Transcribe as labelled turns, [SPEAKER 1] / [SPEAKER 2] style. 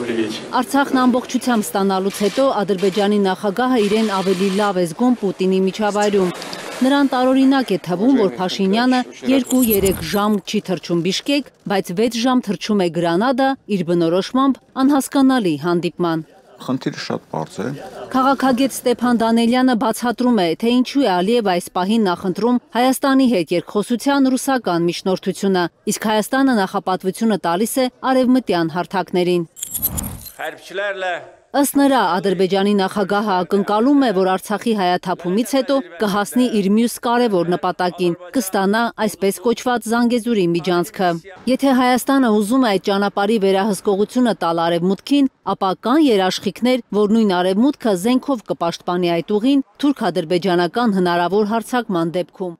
[SPEAKER 1] Արցախն ամբողջությամբ ստանալուց հետո Ադրբեջանի նախագահը իրեն ավելի լավ է զգում Պուտինի միջավայրում։ Նրան տարօրինակ է թվում, որ Փաշինյանը 2-3 ժամ չի թռչում Բիշկեք, բայց 6 ժամ թռչում է Գրանադա իր բնորոշմամբ անհասկանալի հանդիպման։
[SPEAKER 2] Խնդիրը շատ բարձ է։
[SPEAKER 1] Քաղաքագետ Ստեփան Դանելյանը բացատրում է, թե ինչու է Ալիևը այս պահին նախընտրում Հայաստանի հետ երկխոսության ռուսական միջնորդությունը, իսկ Հայաստանը նախապատվությունը տալիս է արևմտյան հարթակներին։ Ըստ նրա, Ադրբեջանի նախագահը ակնկալում է, որ Արցախի հայաթափումից հետո կհասնի իր մյուս կարևոր նպատակին, կստանա այսպես կոչված Զանգեզուրի միջանցքը։ Եթե Հայաստանը ուզում է այդ ճանապարհի վերահսկողությունը տալ Արևմուտքին, ապա կան երաշխիքներ, որ նույն Արևմուտքը զենքով կպաշտպանի այդ ուղին թուրք-ադրբեջանական հնարավոր հարձակման դեպքում։